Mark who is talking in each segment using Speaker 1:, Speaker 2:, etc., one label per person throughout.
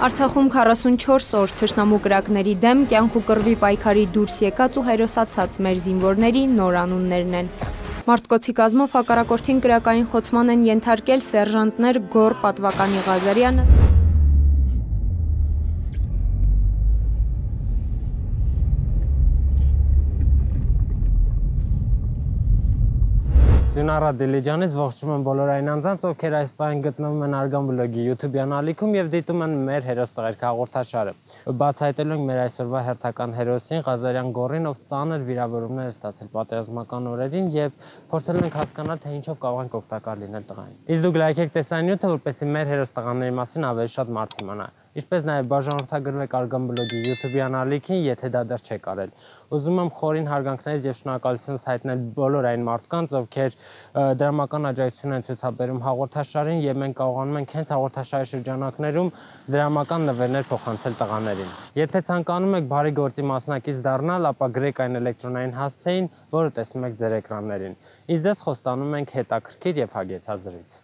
Speaker 1: Արցախում 44 օր թշնամու կրակների դեմ կյանք ու կռվի պայքարի դուրս եկած ու հերոսացած մեր զինվորների նոր անուններն են։ Մարտկոցի կազմով հակառակորդին կրակային խոցման են ենթարկել սերժանտներ Գոռ Պատվականի Ղազարյանը,
Speaker 2: Ձյունառա Դիլիջանից ողջունում եմ բոլոր այն անձանց, ովքեր այս պահին գտնվում են Արգան բլոգի YouTube-յան ալիքում եւ դիտում են մեր հերոս տղերք հաղորդաշարը։ Բացահայտելու ենք մեր այսօրվա հերթական հերոսին Ղազարյան Գոռին, ով ծանր վիրավորումներ է ստացել պատերազմական օրերին եւ փորձել ենք հասկանալ, թե ինչով կարող ենք օգտակար լինել տղային։ Իսկ դուք լայքեք տեսանյութը, որպեսզի մեր հերոս տղաների մասին ավելի շատ մարդ իմանա։ Ինչպես նաև բաժանորդագրվեք Արգան բլոգի YouTube-յան ալիքին, եթե դա դեռ չեք արել։ Ուզում եմ խորին հարգանքներից եւ շնորհակալությունս հայտնել բոլոր այն մարդկանց, ովքեր դրամական աջակցություն են ցուցաբերում հաղորդաշարին, եւ մենք կարողանում ենք հենց հաղորդաշարի շրջանակներում դրամական նվերներ փոխանցել տղաներին։ Եթե ցանկանում եք բարի գործի մասնակից դառնալ, ապա գրեք այն էլեկտրոնային հասցեին, որը տեսնում եք ձեր էկրաններին։ Իսկ ձեզ խոստանում ենք հետաքրքիր եւ հագեցած զրույց։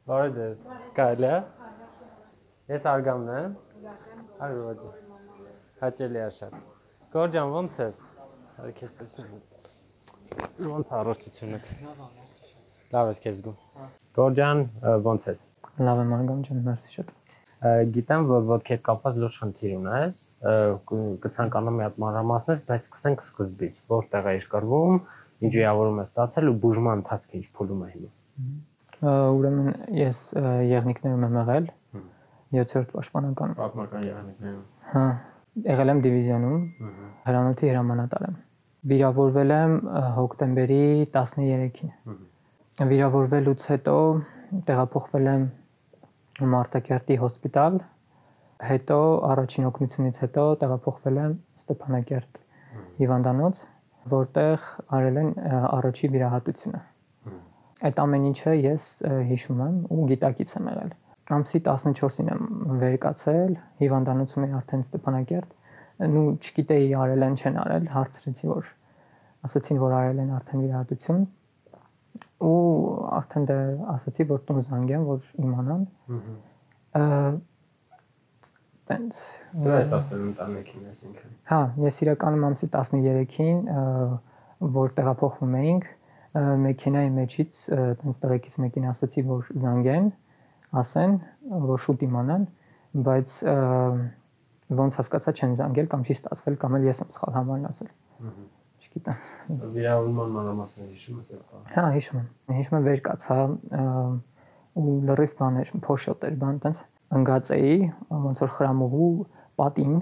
Speaker 2: Բարև ձեզ։ Կարելի է։ Ես Արգամն եմ։ Արո ջան։ Հաճելի է շատ։ Գոռ ջան, ո՞նց ես։ Արի քեզ տեսնեմ։ Ո՞նց առողջությունը։ Լավ ես քեզ զգում։ Գոռ ջան, ո՞նց ես։
Speaker 3: Լավ եմ Արգամ ջան, մերսի շատ։
Speaker 2: Գիտեմ, որ ոտքեր կապված լուրջ խնդիր ունես, կցանկանամ մի հատ մանրամասներ, բայց սկսենք սկզբից, որտեղ է կռվում, ինչ վիրավորում է ստացել ու բուժման ընթացքը ինչ փուլում է հիմա։
Speaker 3: Ուրեմն ես եղնիկներում եմ եղել 7-րդ պաշտպանական։
Speaker 2: Պատմական եղնիկներում։
Speaker 3: Հա, եղել եմ դիվիզիոնում, հրանոթի հրամանատար եմ։ Վիրավորվել եմ հոկտեմբերի 13-ին։ Վիրավորվելուց հետո տեղափոխվել եմ Մարտակերտի հոսպիտալ, հետո առաջին օգնությունից հետո տեղափոխվել եմ Ստեփանակերտ հիվանդանոց, որտեղ արել են առաջի վիրահատությունը։ Այդ ամեն ինչը ես հիշում եմ ու գիտակից եմ եղել։ Ամսի 14-ին եմ վերկացել, հիվանդանոցում էի արդեն Ստեփանակերտ, ու չգիտեի արել են, չեն արել, հարցրեցի, որ ասացին, որ արել են արդեն վիրահատություն, ու արդեն դե ասացի, որ տուն զանգեմ, որ իմանան։ Տենց։
Speaker 2: Դու ես ասել ընտանիքին այսինքն։
Speaker 3: Հա, ես իրականում ամսի 13-ին, որ տեղափոխվում էինք, մեքենայի մեջից տենց տղեկից մեկին ասացի, որ զանգեն, ասեն, որ շուտ իմանան, բայց ոնց հասկացա չեն զանգել կամ չի ստացվել կամ էլ ես եմ սխալ համարն ասել։ Չգիտեմ։
Speaker 2: Վիրավորման մանրամասներ հիշում ես այդ բանը։
Speaker 3: Հա, հիշում եմ։ Հիշում եմ վերկացա ու լրիվ բաներ, փոշոտ էր, բան տենց ընկած էի, ոնց որ խրամուղու պատին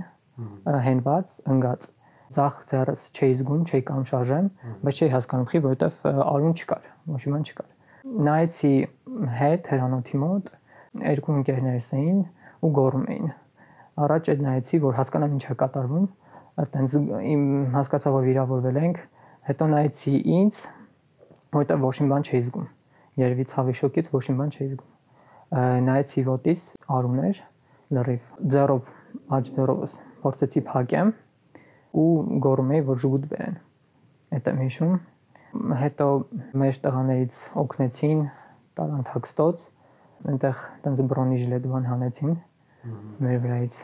Speaker 3: հենված ընկած։ Ձախ ձեռս չէի զգում, չէի կամ շարժեմ, բայց չէի հասկանում խի, որովհետև արուն չկար, ոչ մի բան չկար։ Նայեցի հետ հրանոթի մոտ, երկու ընկերներս էին ու գոռում էին։ Առաջ այդ նայեցի, որ հասկանամ ինչ է կատարվում, այտենց իմ հասկացա, որ վիրավորվել ենք, հետո նայեցի ինձ, որովհետև ոչ մի բան չէի զգում։ Երևի ցավի շոկից ոչ մի բան չէի զգում։ Նայեցի ոտից արուն էր, լրիվ ձեռով, աջ ձեռովս փորձեցի փակեմ ու գոռում էի, որ ժուգուտ բերեն։ Այդ եմ հիշում։ Հետո մեր տղաներից օգնեցին, տարան թաքստոց, այնտեղ տենց բրոնի ժիլետվան հանեցին մեր վրայից,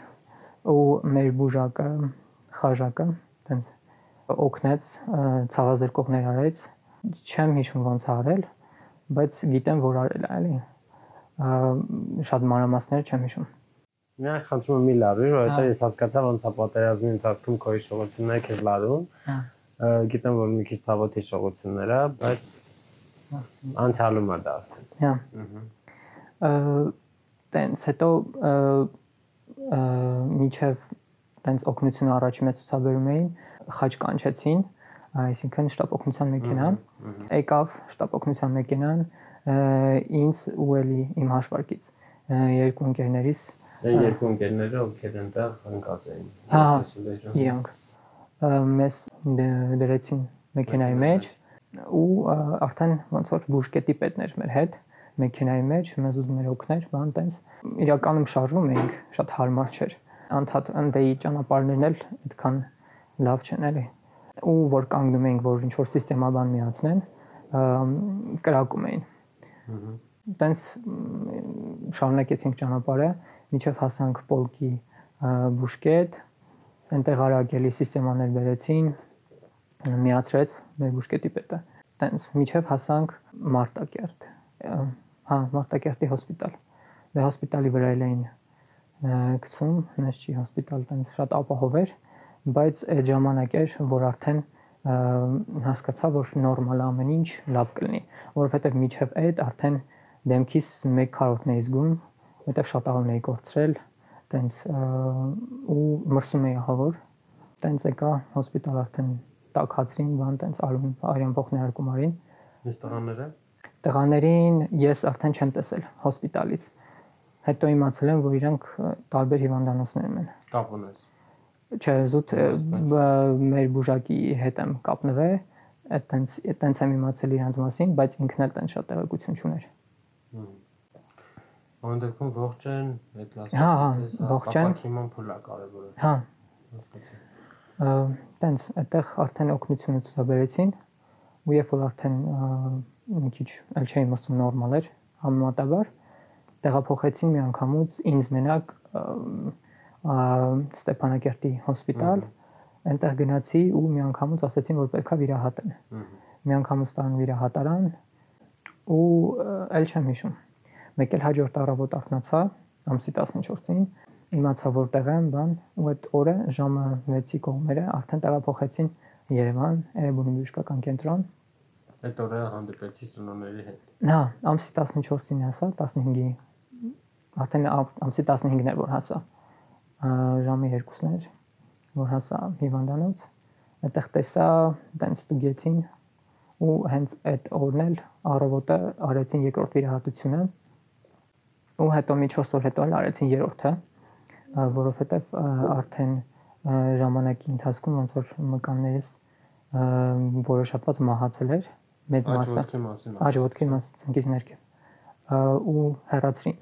Speaker 3: ու մեր բուժակը, խաժակը տենց օգնեց, ցավազրկողներ արեց, չեմ հիշում ոնց արել, բայց գիտեմ, որ արել է, էլի։ Շատ մանրամասներ չեմ հիշում։
Speaker 2: Միայն խնդրում եմ մի լարվիր, որովհետև ես հասկացա ոնց է պատերազմի ընթացքում քո հիշողությունները քեզ լարում։ Գիտեմ, որ մի քիչ ցավոտ հիշողություններ է, բայց անցյալում է դա արդեն։
Speaker 3: Հա։ Տենց հետո միջև տենց օգնությունը առաջի մեծ ցուցաբերում էին, խաչ կանչեցին, այսինքն շտապ օգնության մեքենան, եկավ շտապ օգնության մեքենան, ինձ ու էլի իմ հաշվարկից երկու ընկերներիս
Speaker 2: Երկու ընկերները, ովքեր այնտեղ ընկած էին։
Speaker 3: Հա, իրանք մեզ դրեցին մեքենայի մեջ ու արդեն ոնց որ բուժկետի պետն էր մեր հետ մեքենայի մեջ, մեզ ուզում էր օգնել, բան տենց։ Իրականում շարժվում էինք, շատ հարմար չէր։ Անդադ ընդեի ճանապարհներն էլ այդքան լավ չեն էլի։ Ու որ կանգնում էինք, որ ինչ որ սիստեմաբան միացնեն, կրակում էին։ Տենց շարունակեցինք ճանապարհը, մինչև հասանք Պոլկի բուժկետ, այնտեղ արագելի սիստեմաներ բերեցին, միացրեց մեր բուժկետի պետը։ Տենց մինչև հասանք Մարտակերտ։ Մարտակերտի հոսպիտալ։ Դե հոսպիտալի վրա էին գցում, նես չի հոսպիտալ, տենց շատ ապահով էր, բայց այդ ժամանակ էր, որ արդեն հասկացա, որ նորմալ ամեն ինչ լավ կլինի, որովհետև մինչև այդ արդեն դեմքիս 1 քառորդն էի զգում, որտեղ շատ աղում էի կորցրել, տենց ու մրսում էի ահավոր, տենց եկա հոսպիտալ արդեն տաքացրին, բան տենց արյան փոխներարկում արին։
Speaker 2: Իսկ տղաները։
Speaker 3: Տղաներին ես արդեն չեմ տեսել հոսպիտալից։ Հետո իմացել եմ, որ իրանք տարբեր հիվանդանոցներում են։
Speaker 2: Կապ ունես։
Speaker 3: Չէ, զուտ մեր բուժակի հետ եմ կապնվել, այտենց եմ իմացել իրանց մասին, բայց ինքն էլ տենց շատ տեղեկություն չուներ։
Speaker 2: Այն դեպքում ողջ են, այդ լասը։
Speaker 3: Հա, ողջ են։
Speaker 2: Ապակիման փուլա կարևորը։
Speaker 3: Հա։ Տենց այդտեղ արդեն օգնությունը ցուցաբերեցին, ու երբ որ արդեն մի քիչ էլ չէի մրցում նորմալ էր, համեմատաբար տեղափոխեցին մի անգամուց ինձ մենակ Ստեփանակերտի հոսպիտալ, այնտեղ գնացի ու մի անգամուց ասեցին, որ պետքա վիրահատեն։ Մի անգամուց տան վիրահատարան ու էլ չեմ հիշում։ Մեկ էլ հաջորդ առավոտ արթնացա ամսի 14-ին, իմացա որտեղ եմ, բան, ու այդ օրը ժամը 6-ի կողմերը արդեն տեղափոխեցին Երևան, Էրեբունի բժշկական կենտրոն։
Speaker 2: Այդ օրը հանդիպեցի ծնողների հետ։
Speaker 3: Հա, ամսի 14-ին հասա, 15-ի, արդեն ամսի 15-ն էր որ հասա։ Ժամի 2-ն էր, որ հասա հիվանդանոց, այդտեղ տեսա, տենց ստուգեցին ու հենց այդ օրն էլ առավոտը արեցին երկրորդ վիրահատությունը ու հետո մի 4 օր հետո էլ արեցին երրորդը, որովհետև արդեն ժամանակի ընթացքում ոնց որ մկաններս որոշատված մահացել էր մեծ մասը, աջոտքի մասը ծնկից ներքև ու հեռացրին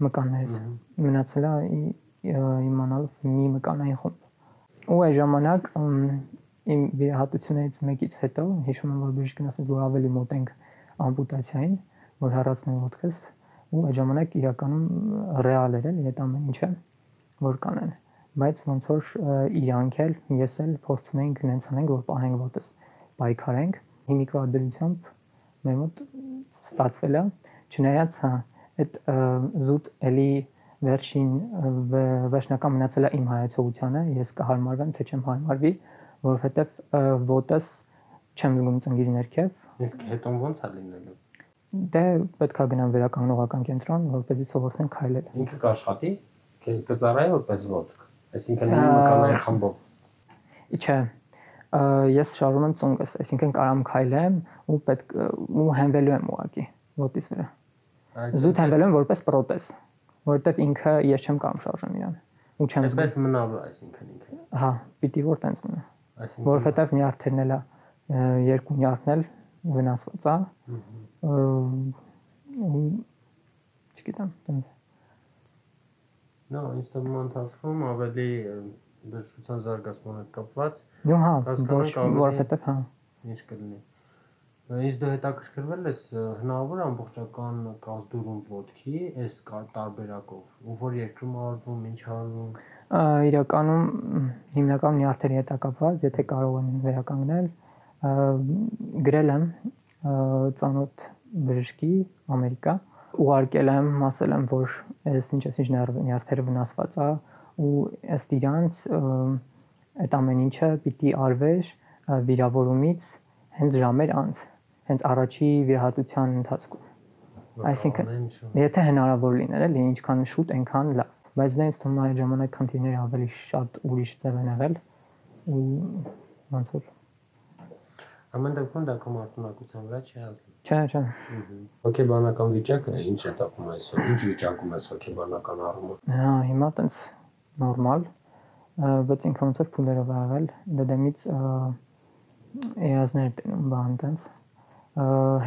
Speaker 3: մկաններից, մնացել է իմանալով մի մկանային խումբ։ Ու այդ ժամանակ իմ վիրահատությունից մեկից հետո հիշում եմ, որ բժիշկն ասաց, որ ավելի մոտ ենք ամպուտացիային, որ հեռացնեն ոտքս, ու այդ ժամանակ իրականում ռեալ էր այդ ամեն ինչը, որ կանեն, բայց ոնց որ իրանք էլ ես էլ փորձում ենք նենց անենք, որ պահենք ոտս, պայքարենք, հիմիկվա դրությամբ մեր մոտ ստացվել է, չնայած այդ զուտ էլի վերջին վերջնական մնացել է իմ հայացողությանը, ես կհարմարվեմ, թե չեմ հարմարվի, որովհետև ոտս չեմ զգում ծնգից ներքև։
Speaker 2: Իսկ հետո ոնց է լինելու։
Speaker 3: Դե պետք է գնամ վերականգնողական կենտրոն, որպեսզի սովորեն քայլել։
Speaker 2: Ինքը կաշխատի, կծառայի որպես ոտք, այսինքն մի մկանային խմբով։
Speaker 3: Չէ, ես շարում եմ ծունկս, այսինքն կարամ քայլեմ ու պետք ու հենվելու եմ ուղակի ոտիս վրա։ Զուտ հենվելու եմ որպես պրոթեզ, որովհետև ինքը ես չեմ կարող շարժեմ իրան։ Ու չեմ զգում։
Speaker 2: Այսպես մնալու, այսինքն ինքը։
Speaker 3: Հա, պիտի որ տենց մնա։ Որովհետև նյարդերն էլ երկու նյարդն էլ վնասված է։ Չգիտեմ, տենց։
Speaker 2: Նո, ինձ թվում է ընթացքում ավելի բժշկության զարգացման հետ կապված։
Speaker 3: Նո, հա, որովհետև հա։
Speaker 2: Ինչ կլինի։ Իսկ դու հետաքրքրվել ես հնարավոր ամբողջական կազդուրում ոտքի, այս տարբերակով, ու որ երկրում արվում, ինչ արվում։
Speaker 3: Իրականում հիմնական նյարդերի հետ կապված, եթե կարող են վերականգնել, գրել եմ ծանոթ բժշկի Ամերիկա, ուղարկել եմ, ասել եմ, որ այս ինչ նյարդերը վնասված է ու ըստ իրանց այդ ամեն ինչը պիտի արվեր վիրավորումից հենց ժամեր անց, հենց առաջի վիրահատության ընթացքում։ Այսինքն, եթե հնարավոր լիներ, էլի ինչքան շուտ, այնքան լավ, բայց դա ինձ թվում է այդ ժամանակ խնդիրները ավելի շատ ուրիշ ձև են եղել ու ոնց որ
Speaker 2: ամեն դեպքում դա կոմարտունակության վրա չի ազդում։
Speaker 3: Չէ։
Speaker 2: Հոգեբանական վիճակը ինչ է տակում այսօր, ինչ վիճակում ես հոգեբանական առումով։
Speaker 3: Հա, հիմա տենց նորմալ, բայց ինքը ոնց որ փուլերով ա եղել, դեմից երազներ տենում բան տենց։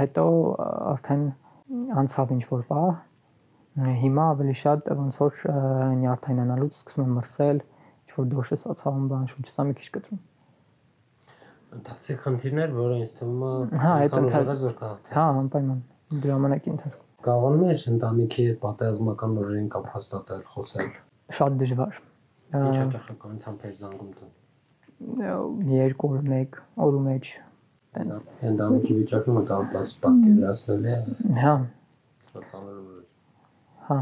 Speaker 3: Հետո արդեն անցավ ինչ որ բա, հիմա ավելի շատ ոնց որ նյարդայնանալուց սկսում եմ մրսել, ինչ որ դոշը սացավում բան, շուրջսա մի քիչ կտրում։
Speaker 2: Ընթացիկ խնդիրներ, որը ինձ թվում է
Speaker 3: հա, այդ ընթացքը, հա, անպայման։ ժամանակի ընթացքում։
Speaker 2: Կարողանում ես ընտանիքի հետ պատերազմական օրերին կապ հաստատել, խոսել։
Speaker 3: Շատ դժվար։
Speaker 2: Ինչ հաճախականությամբ էր զանգում դու։
Speaker 3: 2 օր, 1 օրու մեջ տենց։
Speaker 2: Ընտանիքի վիճակը մտածած պատկերացնել է։
Speaker 3: Հա։
Speaker 2: Շատ ծանր էր։
Speaker 3: Հա։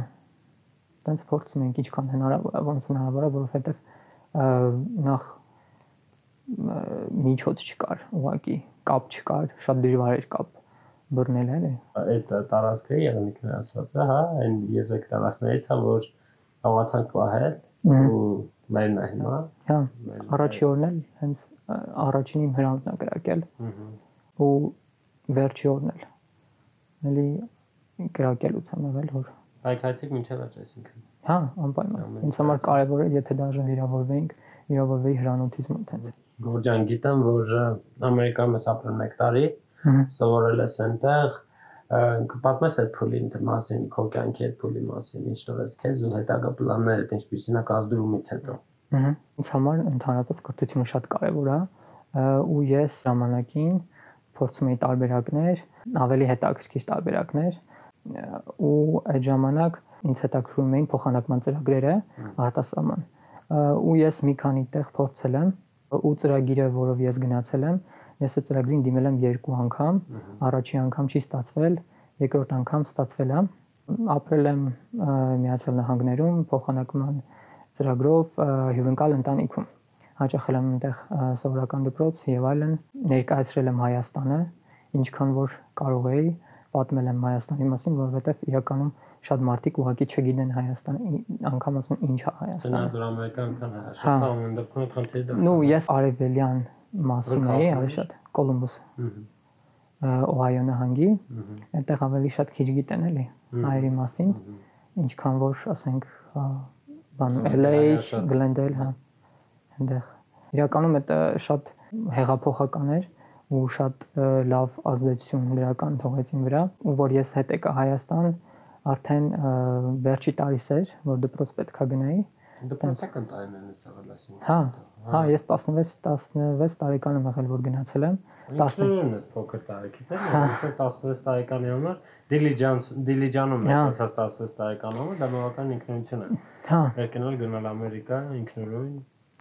Speaker 3: Տենց փորձում ենք ինչքան հնարավոր է, ոնց հնարավոր է, որովհետև նախ միջոց չկար, ուղղակի կապ չկար, շատ դժվար էր կապ բռնել էլի։
Speaker 2: Այդ տարածքը եղնիկն ասված է, հա, այն եզեկ տարածքներից է, որ կարողացանք պահել ու մերն է հիմա։
Speaker 3: Հա, առաջի օրն էլ հենց առաջինին հրանտն է կրակել։ Ու վերջի օրն էլ։ Էլի կրակելուց եմ եղել, որ
Speaker 2: Հայցայցիկ մինչև աճ այսինքն։
Speaker 3: Հա, անպայման։ Ինձ համար կարևոր է, եթե դաժե վիրավորվեի հրանոթից մոտ հենց։
Speaker 2: Գորջան, գիտեմ, որ Ամերիկայում ես ապրել 1 տարի, սովորել ես այնտեղ, կպատմես այդ փուլի մասին, քո կյանքի այդ փուլի մասին, ինչ տվեց քեզ ու հետագա պլաններդ, ինչպիսին է կազդրումից հետո։
Speaker 3: Ինձ համար ընդհանրապես կրթությունը շատ կարևոր է, ու ես ժամանակին փորձում էի տարբերակներ, ավելի հետաքրքիր տարբերակներ, ու այդ ժամանակ ինձ հետաքրքրում էին փոխանակման ծրագրերը արտասահման։ Ու ես մի քանի տեղ փորձել եմ, ու ծրագիրը, որով ես գնացել եմ, ես այդ ծրագրին դիմել եմ 2 անգամ, առաջի անգամ չի ստացվել, երկրորդ անգամ ստացվել է։ Ապրել եմ Միացյալ Նահանգներում փոխանակման ծրագրով հյուրընկալ ընտանիքում։ Հաճախել եմ այնտեղ սովորական դպրոց եւ այլն, ներկայացրել եմ Հայաստանը, ինչքան որ կարող էի, պատմել եմ Հայաստանի մասին, որովհետեւ իրականում շատ մարդիկ ուղղակի չգիտեն Հայաստանը, անգամ ասում են ինչ է Հայաստանը։
Speaker 2: Ցնած ամերիկական շատ ամեն դեպքում խնդիր դա։
Speaker 3: Ну, ես արևելյան մասում էի, ավելի շատ Կոլումբոս։ Օհայո նահանգի, այնտեղ ավելի շատ քիչ գիտեն էլի հայերի մասին, ինչքան որ ասենք բան LA, Glendale, հա, այնտեղ։ Իրականում դա շատ հեղափոխական էր ու շատ լավ ազդեցություն դրական թողեց իմ վրա, ու որ ես հետ եկա Հայաստան, արդեն վերջի տարիս էր, որ դպրոց պետքա գնայի։
Speaker 2: Դպրոցական տարիներն ես եղել այսինքն։
Speaker 3: Հա, հա, ես 16 տարեկան եմ եղել, որ գնացել եմ։
Speaker 2: 10-ն ես փոքր տարեկից եմ, 16 տարեկանի համար Դիլիջանում մեծացած 16 տարեկան համար դա բավական ինքնություն է։
Speaker 3: Հա։
Speaker 2: Երկնել գնալ Ամերիկա ինքնուրույն։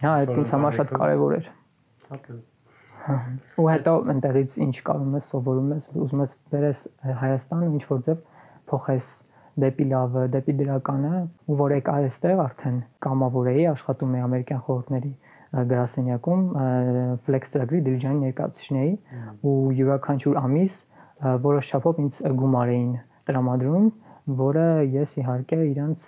Speaker 3: Հա, այդ ինձ համար շատ կարևոր էր։
Speaker 2: Հատկապես։
Speaker 3: Ու հետո այնտեղից ինչ կարում ես, սովորում ես, ուզում ես բերես Հայաստան, ինչ որ ձև փոխես դեպի լավը, դեպի դրականը, ու որ եկա այստեղ արդեն կամավոր էի, աշխատում էի ամերիկյան խորհուրդների գրասենյակում, Flex ծրագրի Դիլիջանի ներկայացուցիչն էի, ու յուրաքանչյուր ամիս որոշ չափով ինձ գումար էին տրամադրում, որը ես իհարկե իրանց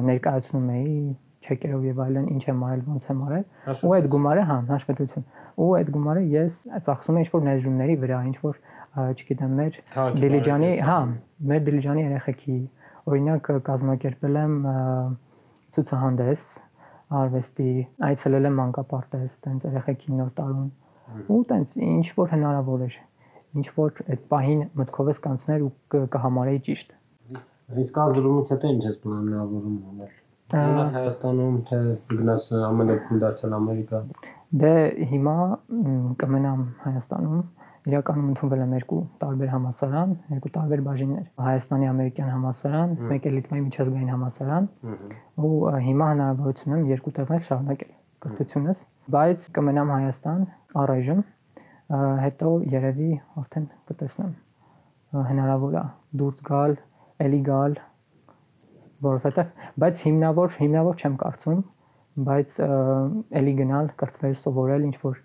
Speaker 3: ներկայացնում էի չեկերով եւ այլն, ինչ եմ արել, ոնց եմ արել, ու այդ գումարը, հա, հաշվետվություն, ու այդ գումարը ես ծախսում էի ինչ-որ ներդրումների վրա, ինչ-որ, չգիտեմ, մեր Դիլիջանի, հա, մեր Դիլիջանի երեխեքի, օրինակ կազմակերպել եմ ցուցահանդես, արվեստի, այցելել եմ մանկապարտեզ, տենց երեխեքի նոր տարուն, ու տենց ինչ-որ հնարավոր էր, ինչ-որ այդ պահին մտքով ես կանցներ ու կհամարեի ճիշտ։
Speaker 2: Իսկ ազդրումից հետո ինչ ես պլանավորում անել։ Գնաս Հայաստանում, թե գնաս ամեն դեպքում դարձել Ամերիկա։ Դե
Speaker 3: հիմա կմնամ Հայաստանում, իրականում ընդունվել եմ 2 տարբեր համալսարան, 2 տարբեր բաժիններ, Հայաստանի ամերիկյան համալսարան, մեկ էլ Լիտվայի միջազգային համալսարան, ու հիմա հնարավորություն եմ 2 տեղներ շարունակել կրթությունս, բայց կմնամ Հայաստան առայժմ, հետո երևի արդեն կտեսնեմ, հնարավոր է դուրս գալ, էլի գալ, որովհետև, բայց հիմնավոր չեմ կարծում, բայց էլի գնալ, կրթվել, սովորել, ինչ որ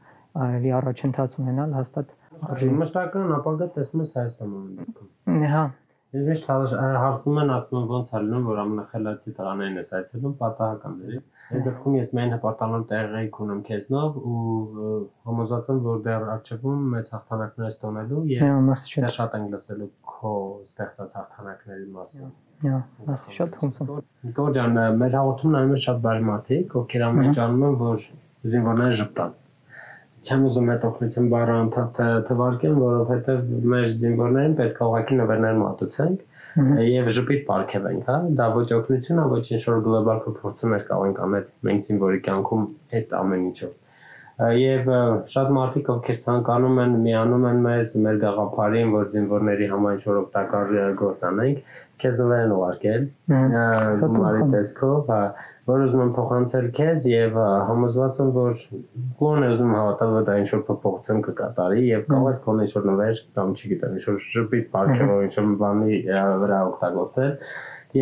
Speaker 3: էլի առաջընթաց ունենալ, հաստատ
Speaker 2: արժի։ Մշտական ապագա տեսնում ես Հայաստանում դեպքում։
Speaker 3: Հա։
Speaker 2: Ես միշտ հարցնում են, ասում են ոնց է լինում, որ ամենախելացի տղաներին ես այցելում, պատահականների։ Այս դեպքում ես միայն հպարտանում տեղեկ ունեմ քեզնով ու համոզված եմ, որ դեռ արժևում մեծ հաղթանակներ ստանալու եւ դեռ շատ ենք լսելու քո ստեղծած հաղթանակների մասին։
Speaker 3: Հա, մասի շատ հուսամ։
Speaker 2: Գորջան, մեր հաղորդումն անում են շատ բարի մարդիկ, ովքեր ամենջանում են, որ զինվորները ժպտան։ Չեմ ուզում այդ օգնություն բառը ընդհանրապես թվարկեմ, որովհետև մեր զինվորներին պետք է ուղղակի նվերներ մատուցենք եւ ժպիտ պարգևենք, հա։ Դա ոչ օգնություն է, ոչ ինչ-որ գլոբալ փոփոխություններ կարող ենք անել մենք զինվորի կյանքում այդ ամեն ինչով։ Եվ շատ մարդիկ ովքեր ցանկանում են միանում են մեզ մեր գաղափարին, որ զինվորների համար ինչ-որ օգտակար գործ անենք, քեզ նվեր են ուղարկել գումարի տեսքով, որ ուզում եմ փոխանցել քեզ եւ համոզված եմ, որ ո՞ն է ուզում հավատալ, որ դա ինչ-որ փոփոխություն կկատարի եւ կարող է քոնը ինչ-որ նվեր կամ չգիտեմ, ինչ-որ շփիտ պարգևով ինչ-որ բանի վրա օգտագործել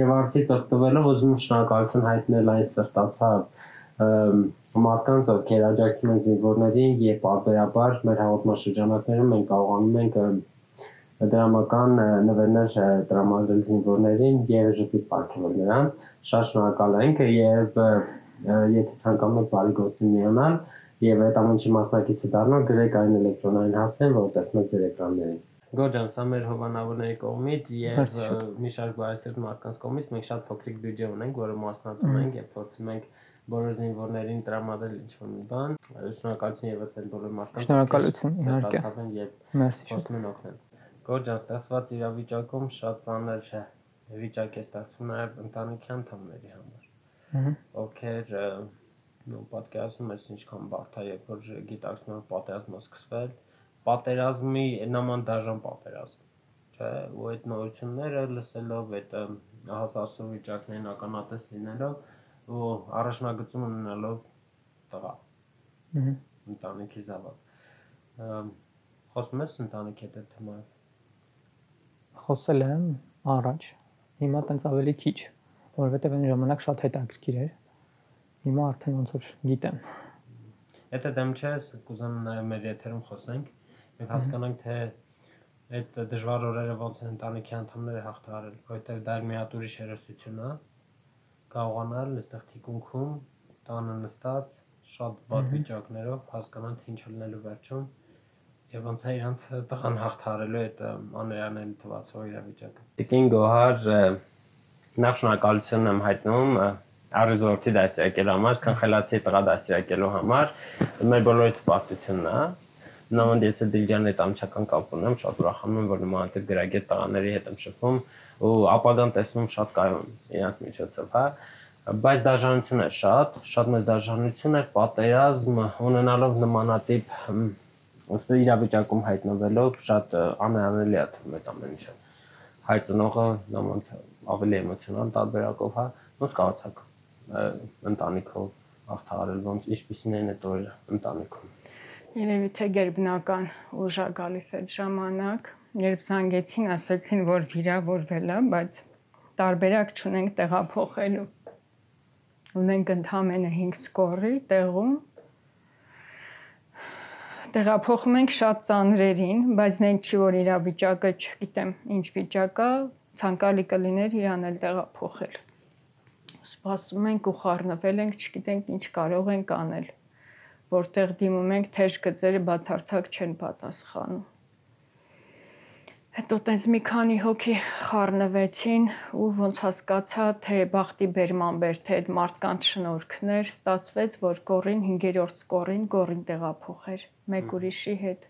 Speaker 2: եւ արդից օգտվելով ուզում եմ շնորհակալություն հայտնել այն սրտացավ մարդկանց, ովքեր աջակցում են զինվորներին եւ պարբերաբար մեր հաղորդաշրջանակներում մենք կարողանում ենք դրամական նվերներ տրամադրել զինվորներին եւ ժպիտ պարգևել նրանց։ Շատ շնորհակալ ենք եւ եթե ցանկանում եք բարի գործի միանալ եւ այդ ամենի մասնակիցը դառնալ, գրեք այն էլեկտրոնային հասցեն, որ տեսնում եք ձեր էկրաններին։ Գորջան, սա մեր հովանավորների կողմից եւ մի շարք բարեսիրտ մարդկանց կողմից մենք շատ փոքրիկ բյուջե ունենք, որը մասնատում ենք եւ փորձում ենք բոլոր զինվորներին տրամադրել ինչ-որ մի բան։ Շնորհակալություն եւս այն բոլոր մարդկանց։
Speaker 3: Շնորհակալություն, իհարկե։
Speaker 2: Մերսի շատ օգնել։ Գորջան, ստացված իրավիճակում շատ ծանր վիճակ է ստացվում նաեւ ընտանիքի անդամների համար։ Ովքեր պատկերացնում ես ինչքան բարդ է, երբ որ գիտակցում ես պատերազմը սկսվել, պատերազմի նման դաժան պատերազմ, չէ՞, ու այդ նորությունները լսելով, այդ հասարակ վիճակներին ականատես լինելով ու առաջնագծում ունենալով տղա ընտանիքի զավակ խոսում ես ընտանիքի հետ թեմայով
Speaker 3: խոսել եմ առաջ հիմա տենց ավելի քիչ որովհետև այն ժամանակ շատ հետաքրքիր էր հիմա արդեն ոնց որ գիտեմ
Speaker 2: Եթե դեմ չես կուզենամ նաև մեր եթերում խոսենք եւ հասկանանք թե այդ դժվար օրերը ոնց են ընտանիքի անդամները հաղթահարել որովհետև դա մի հատ ուրիշ հերոսություն է կարողանալ այստեղ թիկունքում տանը նստած շատ վատ վիճակներով հասկանալ թե ինչ լինելու վերջում եւ ոնց է իրանց տղան հաղթահարելու այդ աներանել թվացող իրավիճակը Տիկին Գոհար նախ շնորհակալություն եմ հայտնում Արիզորտի դասյակելու համար, Սքանխելացի տղա դասյակելու համար մեր բոլորիս պարտությունն է նման ես Դիլջանի հետ ամչական կապ ունեմ շատ ուրախանում եմ որ նման գրագետ տղաների հետ եմ շփվում ու ապագան տեսնում շատ կայուն իրանց միջոցով հա բայց դաժանություն է շատ մեծ դաժանություն է պատերազմ ունենալով նմանատիպ ըստ իրավիճակում հայտնվելով շատ անհանելի է թվում այդ ամեն ինչը հայ ծնողը նման ավելի էմոցիոնալ տարբերակով հա ոնց կարողացաք ընտանիքով հաղթահարել ոնց ինչպիսին են այդ օրերը ընտանիքում
Speaker 4: Երևի թե գերբնական ուժ է գալիս այդ ժամանակ երբ զանգեցին ասացին որ վիրավորվել է բայց տարբերակ չունենք տեղափոխելու ունենք ընդամենը 5 սկորի տեղում տեղափոխում ենք շատ ծանրերին բայց նենք չի որ իրավիճակը չգիտեմ ինչ վիճակ է ցանկալի կլիներ իրան էլ տեղափոխել սպասում ենք ու խառնվել ենք չգիտենք ինչ կարող ենք անել որտեղ դիմում ենք թեժ գծերը բացարձակ չեն պատասխանում հետո տենց մի քանի հոգի խառնվեցին ու ոնց հասկացա թե բախտի բերման բեր թե այդ մարդկանց շնորհքներ ստացվեց որ Գորին 5-րդ սկորին Գորին տեղափոխեր մեկ ուրիշի հետ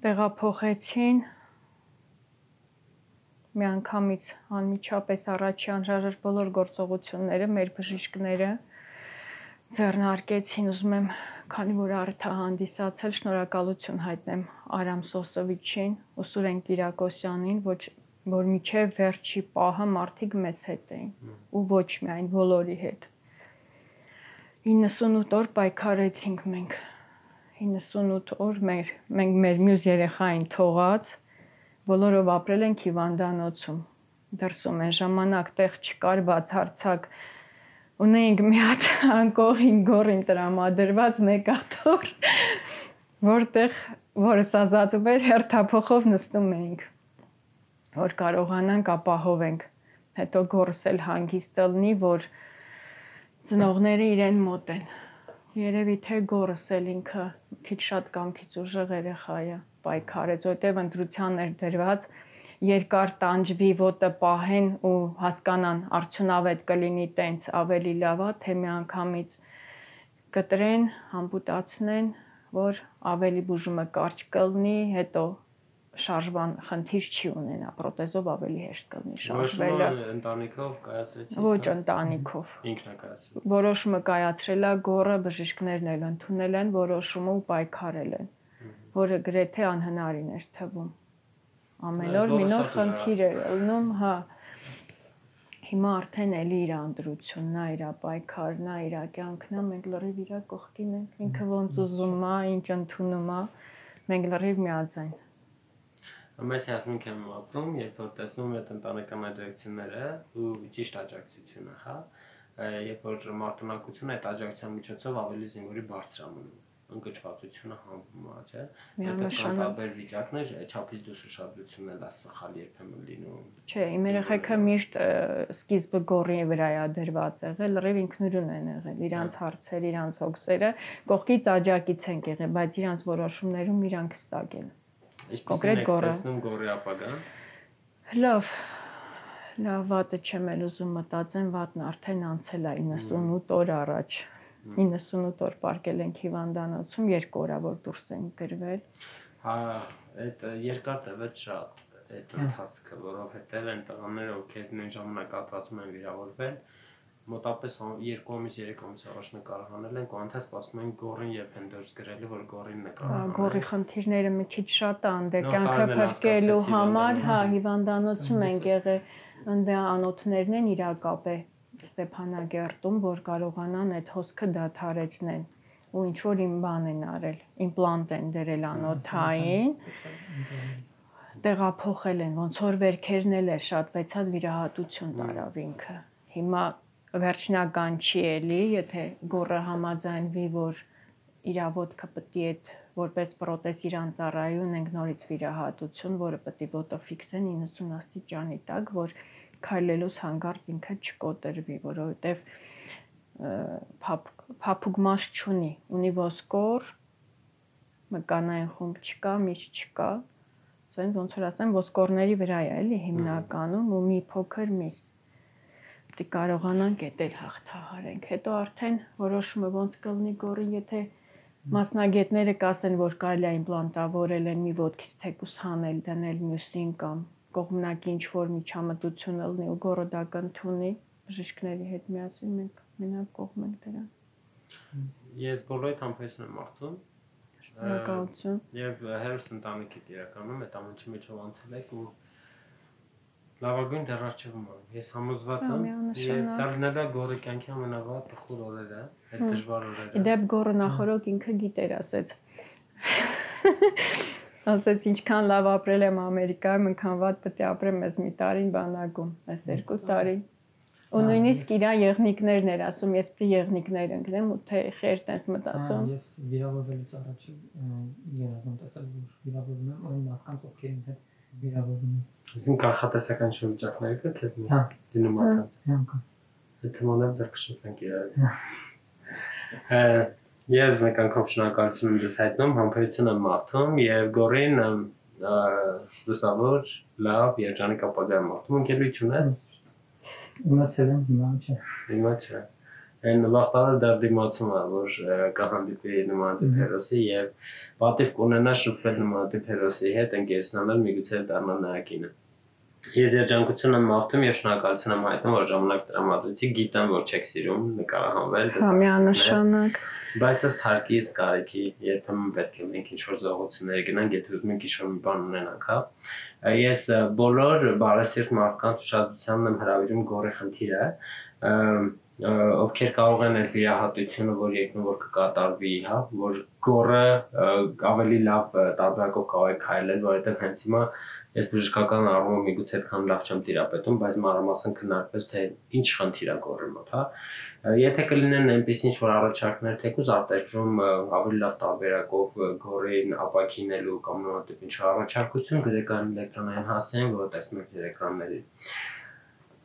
Speaker 4: տեղափոխեցին միանգամից անմիջապես առաջի անհրաժեշտ բոլոր գործողությունները մեր բժիշկները ձեռնարկեցին ուզում եմ քանի որ արդյոք հանդիսացել շնորհակալություն հայտնեմ Արամ Սոսովիչին ու Սուրեն Կիրակոսյանին որ միջև վերջի պահը մարդիկ մեզ հետ էին ու ոչ միայն բոլորի հետ 98 օր պայքարեցինք մենք 98 օր մենք մեր մյուս երեխային թողած բոլորով ապրել ենք հիվանդանոցում դրսում են ժամանակ տեղ չկար բացարձակ ունեինք մի հատ անկողին Գորին տրամադրված մեկ աթոռ որտեղ որս ազատում էր հերթափոխով նստում էինք որ կարողանանք ապահովենք հետո Գորս էլ հանգիստ լինի որ ծնողները իրեն մոտ են երևի թե Գորս էլ ինքը քիչ շատ կամքից ուժեղ երեխա է պայքարեց որտեղ ընտրության էր դրված երկար տանջվի ոտը պահեն ու հասկանան արդյունավետ կլինի տենց ավելի լավ է թե միանգամից կտրեն ամպուտացնեն որ ավելի բուժումը կարճ կլինի հետո շարժման խնդիր չի ունենա, պրոթեզով ավելի հեշտ կլինի շարժվելը։
Speaker 2: Ընտանիքով կայացրեցի։
Speaker 4: Ոչ ընտանիքով։
Speaker 2: Ինքն է կայացրել։
Speaker 4: Որոշումը կայացրել է գոռը, բժիշկներն էլ ընդունել են որոշումը ու պայքարել են, որը գրեթե անհնարին էր թվում։ Ամեն օր մի նոր խնդիր էր ելնում, հա։ Հիմա արդեն էլի իր անդրությունն է, իր պայքարն է, իր կյանքն է, մենք լրիվ իր կողքին ենք, ինքը ոնց ուզում է, ինչ ընդունում է, մենք լրիվ միաձայն։
Speaker 2: Մեծ հասմունք եմ ապրում, երբ որ տեսնում եմ այդ ընտանեկան աջակցությունները ու ճիշտ աջակցությունը, հա, երբ որ մարտունակությունը այդ աջակցության միջոցով ավելի զինվորի բարձր է մնում, ընկճվածությունը հանվում է, չէ՞։
Speaker 4: Միանշանակ
Speaker 2: տարբեր վիճակներ, չափից դուրս ուշադրությունն էլ է սխալ երբեմն լինում։
Speaker 4: Չէ, իմ երեխեքը միշտ սկիզբը գոռի վրա է դրված եղել, լրիվ ինքնուրույն են եղել, իրանց հարցերը, իրանց հոգսերը, կողքից աջակից են եղել, բայց իրանց որոշումներում իրանք հստակ են։ Կոնկրետ գոռը։
Speaker 2: Տեսնում գոռի ապագան։
Speaker 4: Լավ, վատը չեմ էլ ուզում մտածեմ, վատն արդեն անցել է 98 օր առաջ։ 98 օր պարկել ենք հիվանդանոցում, 2 օր որ դուրս ենք գրվել։
Speaker 2: Հա, այդ երկար տևեց շատ այդ ընթացքը, որովհետև այն տղաները, ովքեր նույն ժամանակահատվածում են վիրավորվել, մոտավորապես 2 ամիս 3 ամիս առաջ նկարահանել են, կանթա սպասում են գոռին երբ են դուրս գրելի, որ գոռին նկարահանեն։
Speaker 4: Գոռի խնդիրները մի քիչ շատ են, դե կյանքը փրկելու համար, հա, հիվանդանոցում ենք եղել, ընդ անոթներն են իրակապե Ստեփանագերտում, որ կարողանան այդ հոսքը դադարեցնեն ու ինչ որ իմ բան են արել, իմպլանտ են դրել անոթային, տեղափոխել են, ոնց որ վերքերն էլ է շատ վեցած վիրահատություն տարավ ինքը։ Հիմա վերջնական չի էլի, եթե գոռը համաձայնվի, որ իր ոտքը պետք է որպես պրոթեզ իրան ծառայի ունենք նորից վիրահատություն, որը պետք է ոտը ֆիքսեն 90 աստիճանի տակ, որ քայլելուց հանկարծ ինքը չկոտրվի, որովհետև փափուկ չունի, ունի ոսկոր, մկանային խումբ չկա, միշ չկա, ասենց ոնց որ ասեմ, ոսկորների վրա է էլի հիմնականում ու մի փոքր միս։ Պետք է կարողանանք էդ հաղթահարենք։ Հետո արդեն որոշումը ոնց կլինի գոռի, եթե մասնագետները կասեն, որ կարելի է իմպլանտավորել են մի ոտքից թեկուս հանել, դնել մյուսին կամ կողմնակի ինչ որ միջամտություն լինի ու գոռը դա կընդունի, բժիշկների հետ միասին մենք մենակ կողմ ենք դրան։
Speaker 2: Ես բոլորիդ համբերություն եմ աղթում։
Speaker 4: Շնորհակալություն։
Speaker 2: Եվ հերոս ընտանիքիդ իրականում այդ ամենի միջով անցել եք ու լավագույն դեռարժևում եմ։ Ես համոզված եմ, եւ դառնալա գոռի կյանքի ամենավատ տխուր օրերը, այդ դժվար օրերը։
Speaker 4: Իդեպ գոռը նախորդ ինքը գիտեր, ասեց։ Ասեց ինչքան լավ ապրել եմ Ամերիկայում, այնքան վատ պետք է ապրեմ ես մի տարին բանակում, ես 2 տարի։ Ու նույնիսկ իր եղնիկներն էր ասում, ես պիտի եղնիկներ ընկնեմ ու թե խեր տես մտածում։
Speaker 3: Ես վիրավորվելուց առաջ երազում տեսել, որ վիրավորվում եմ այն մարդկանց, ովքեր ինձ հետ վիրավորվում են։
Speaker 2: Այսինքն կանխատեսական շրջանակներ կա քեզ մի դնում ատած։ Այդ թեմաները դեռ կշփվենք իրար։ Ես մեկ անգամ շնորհակալություն եմ ձեզ հայտնում, համբերություն եմ մաղթում եւ գոռին լուսավոր, լավ, երջանիկ ապագա եմ մաղթում, ընկերություն է։
Speaker 3: Իմացել եմ, հիմա չէ։
Speaker 2: Հիմա չէ։ Այն վաղտարը դեռ դիմացում է, որ կհանդիպի նմանատիպ հերոսի եւ պատիվ կունենա շփվել նմանատիպ հերոսի հետ, ընկերությունանալ միգուցե դառնա նրա կինը։ Ես երջանկություն եմ մաղթում եւ շնորհակալություն եմ հայտնում, որ ժամանակ տրամադրեցի, գիտեմ, որ չեք սիրում նկարահանվել,
Speaker 4: Միանշանակ։
Speaker 2: բայց ըստ հարկի, ըստ կարիքի, երբեմն պետք է մենք ինչ-որ զողություններ գնանք, եթե ուզում ենք ինչ-որ մի բան ունենանք, հա։ Ես բոլոր բարեսիրտ մարդկանց ուշադրությանն եմ հրավիրում գոռի խնդիրը, ովքեր կարող են այդ վիրահատությունը, որ եկնում որ կկատարվի, հա, որ գոռը ավելի լավ տարբերակով կարող է քայլել, որովհետև հենց հիմա ես բժշկական առումով միգուցե այդքան լավ չեմ տիրապետում, բայց մանրամասն քննարկվեց թե ինչ խնդիր է գոռի մոտ, հա։ Եթե կլինեն այնպես ինչ-որ առաջարկներ, թեկուզ արտերկրում ավելի լավ տարբերակով գոռին ապակինելու կամ նմանատիպ ինչ առաջարկություն գրեք այն էլեկտրոնային հասցեին, որը տեսնում եք ձեր էկրաններին։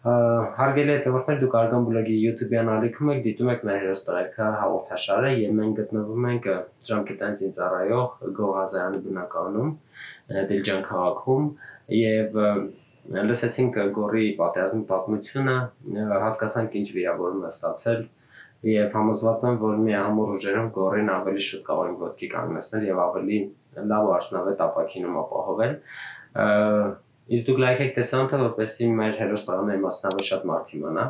Speaker 2: Հարգելի հետևորդներ, դուք Արգան բլոգի YouTube-յան ալիքում եք, դիտում եք մեր հերոստարայքը հաղորդաշարը եւ մենք գտնվում ենք Ժամկետային զինծառայող Գոհ Ղազարյանի բնականում, Դիլջան քաղաքում եւ լսեցինք գոռի պատերազմի պատմությունը, հասկացանք ինչ վիրավորում է ստացել Եվ համոզված եմ, որ միահամուռ ուժերով Գոռին ավելի շուտ կարող ենք ոտքի կանգնեցնել եւ ավելի լավ ու արդյունավետ ապակինում ապահովել։ Իսկ դուք լայք եք տեսան, թե որպեսզի մեր հերոստաղանների մասնավոր շատ մարդ իմանա,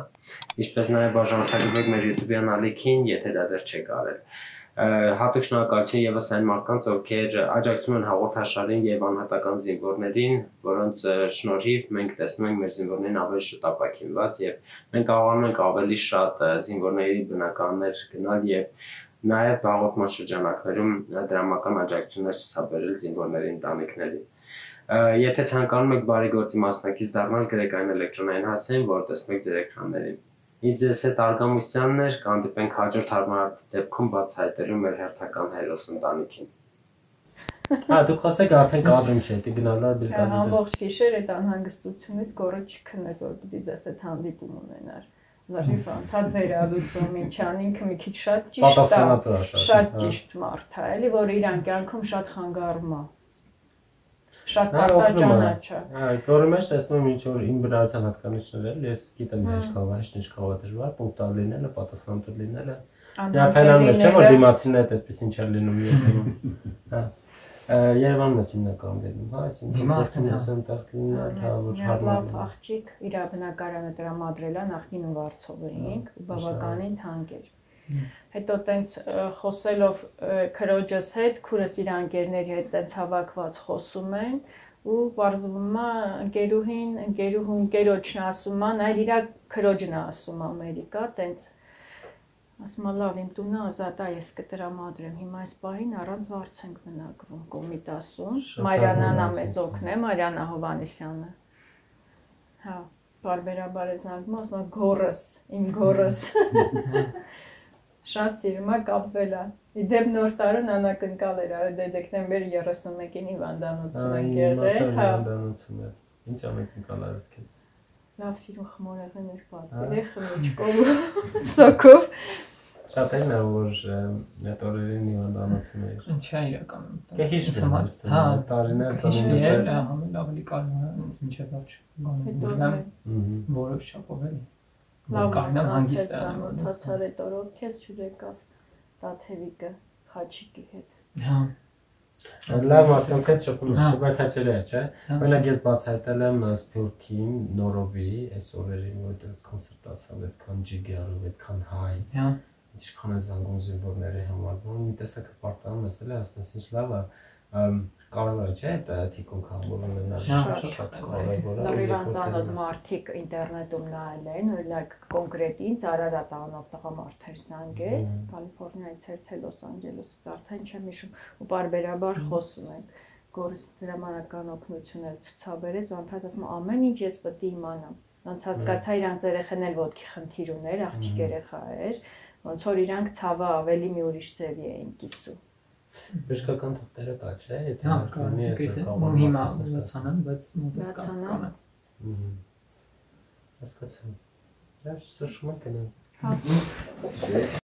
Speaker 2: ինչպես նաև բաժանորդագրվեք մեր YouTube-յան ալիքին, եթե դա դեռ չեք արել։ Հատուկ շնորհակալություն եւս այն մարդկանց, ովքեր աջակցում են հաղորդաշարին եւ անհատական զինվորներին, որոնց շնորհիվ մենք տեսնում ենք մեր զինվորներին ավելի շուտ ապակինված եւ մենք կարողանում ենք ավելի շատ զինվորների բնականներ գնալ եւ նաեւ հաղորդման շրջանակներում դրամական աջակցություններ ցուցաբերել զինվորների ընտանիքներին։ Եթե ցանկանում եք բարի գործի մասնակից դառնալ, գրեք այն էլեկտրոնային հասցեն, որը տեսնում եք ձեր էկրաններին։ Ինձ ես հետ Արգամուսյանն էր, կհանդիպենք հաջորդ հարմար դեպքում բացահայտելու մեր հերթական հերոս ընտանիքին։ Դուք խոսեք արդեն կադրում չէ, դի գնալու ար բիլկադիզ։
Speaker 4: Ամբողջ գիշեր այդ անհանգստությունից Գոռը չքնեց, որ պիտի ձեզ հետ հանդիպում ունենար։ Լրիվ անդադ վերալուծում ինչան ինքը մի քիչ շատ ճիշտ մարդ է, էլի որ իր կյանքում շատ խանգարում է։ Շատ պատճառ չէ։
Speaker 2: Գոռի մեջ տեսնում եմ ինչ որ իմ բնարարության հատկանիշներ, ես գիտեմ ինչ կարող է դժվար, պունկտուալ լինելը, պատասխանատու լինելը։ Միապայմաններ չէ որ դիմացին այդ այդպես ինչ է լինում երբեմն։ Հա։ Երևանում ես հիմնականում դեպքում, հա, այսինքն գործում ես այնտեղ լինել, հա, որ
Speaker 4: լավ աղջիկ իր բնակարանը տրամադրել է նախին Վարչով էինք, բավականին թանկ էր։ Հետո տենց խոսելով քրոջս հետ, քուրս իր անկերների հետ տենց հավաքված խոսում են ու բարձվում է ընկերոջն ասում է, նայր իր քրոջն է ասում Ամերիկա, տենց ասում է լավ իմ տունը ազատ է, ես կտրամադրեմ, հիմա այս պահին առանց վարձ ենք մնակվում Կոմիտասում, Մարիանան է մեզ օգնե, Մարիանա Հովհաննիսյանը։ Հա, բարբերաբար է զանգում, ասում է Գոռս, իմ Գոռս։ Շատ սիրում է կապվել է։ Իդեպ նոր տարուն անակնկալ էր, արե դեկտեմբեր 31-ին հիվանդանոցում ենք եղել, հա։
Speaker 2: Ինչ անակնկալ արես քեզ։
Speaker 4: Լավ սիրուն խմորեղներ պատվել է խմիչքով, սոկով։
Speaker 2: Շատ են որ այդ օրերին հիվանդանոցում էր։
Speaker 3: Ինչ է իրականում։
Speaker 2: Կե հիշվում է, հա, տարիներ
Speaker 3: ծնունդներ, ավելի կարևորը ինձ մինչև ոչ գոնեմ, որոշ չափով էլի։
Speaker 4: Լավ
Speaker 3: կարնամ հանգիստ է
Speaker 4: մտածար այդ օրով քեզ յուրեկավ Տաթևիկը Խաչիկի հետ։
Speaker 3: Հա։
Speaker 2: Լավ մարդկանց հետ շփում եմ, բայց հաճելի է, չէ՞։ Օրինակ ես բացահայտել եմ Սփյուռքին, Նորովի, այս օրերին, որ այդ կոնցերտացավ, այդքան ջիգարով, այդքան հայ։
Speaker 3: Հա։
Speaker 2: Ինչքան է զանգում զինվորների համար, որ մի տեսակը պարտանում ես էլի, ասես ինչ լավ է, կարևոր է, չէ՞, այդ թիկունք համբուրում ունենալ։
Speaker 3: Շատ
Speaker 2: կարևոր է։
Speaker 4: Լրիվ անծանոթ մարդիկ ինտերնետում նայել են, օրինակ կոնկրետ ինձ Արարատ անով տղամարդ էր զանգել, Կալիֆոռնիայից էր թե Լոս Անջելեսից, արդեն չեմ հիշում, ու բարբերաբար խոսում են։ Գոռս դրամանական օգնություն էլ ցուցաբերեց, ու անդադ ասում ամեն ինչ ես պետք է իմանամ։ Ոնց հասկացա իրանց երեխան էլ ոտքի խնդիր ուներ, աղջիկ երեխա էր, ոնց որ իրանք ցավը ավելի մի ուրիշ ձևի էին կիսում։
Speaker 2: Բժշկական թղթերը կա, չէ՞, եթե
Speaker 3: հա, կարող է հիմա ուսանան, բայց մոտս կասկանը։
Speaker 2: Հասկացա։ Դա շշմա կնա։
Speaker 4: Հա։